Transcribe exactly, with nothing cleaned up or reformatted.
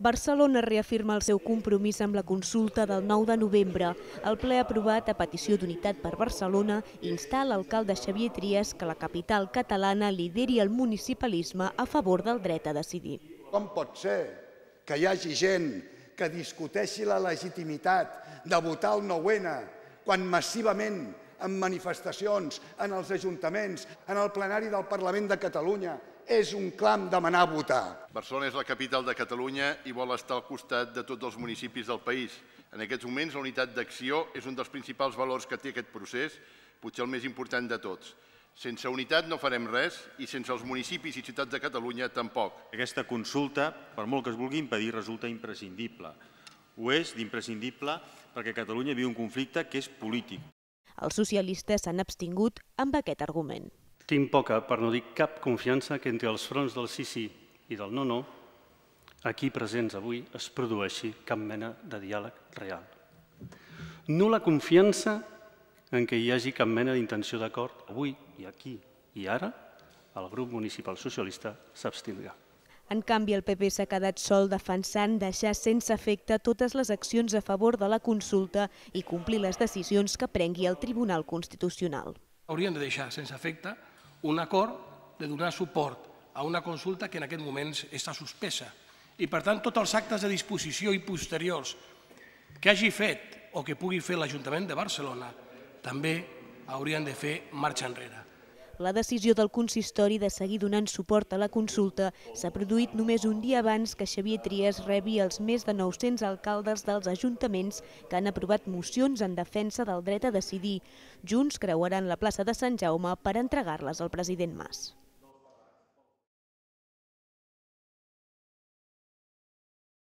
Barcelona reafirma el seu compromís amb la consulta del nou de novembre. El ple ha aprovat, a petició d'Unitat per Barcelona, instar l'alcalde Xavier Trias que la capital catalana lideri el municipalisme a favor del dret a decidir. Com pot ser que hi hagi gent que discuteixi la legitimitat de votar el nou ene quan massivament en manifestacions, en els ajuntaments, en el plenari del Parlament de Catalunya, és un clam demanar votar? Barcelona és la capital de Catalunya i vol estar al costat de tots els municipis del país. En aquests moments, la unitat d'acció és un dels principals valors que té aquest procés, potser el més important de tots. Sense unitat no farem res i sense els municipis i ciutats de Catalunya tampoc. Aquesta consulta, per molt que es vulgui impedir, resulta imprescindible. Ho és d'imprescindible perquè Catalunya viu un conflicte que és polític. Els socialistes s'han abstingut amb aquest argument. Tinc poca, per no dir cap, confiança que entre els fronts del sí sí i del no no, aquí presents avui, es produeixi cap mena de diàleg real. Nul·la confiança en què hi hagi cap mena d'intenció d'acord. Avui, i aquí i ara, el grup municipal socialista s'abstindrà. En canvi, el P P s'ha quedat sol defensant deixar sense efecte totes les accions a favor de la consulta i complir les decisions que prengui el Tribunal Constitucional. Haurien de deixar sense efecte un acord de donar suport a una consulta que en aquest moment està suspesa. I, per tant, tots els actes de disposició i posteriors que hagi fet o que pugui fer l'Ajuntament de Barcelona també haurien de fer marxa enrere. La decisió del consistori de seguir donant suport a la consulta s'ha produït només un dia abans que Xavier Trias rebi els més de nou-cents alcaldes dels ajuntaments que han aprovat mocions en defensa del dret a decidir. Junts creuaran la plaça de Sant Jaume per entregar-les al president Mas.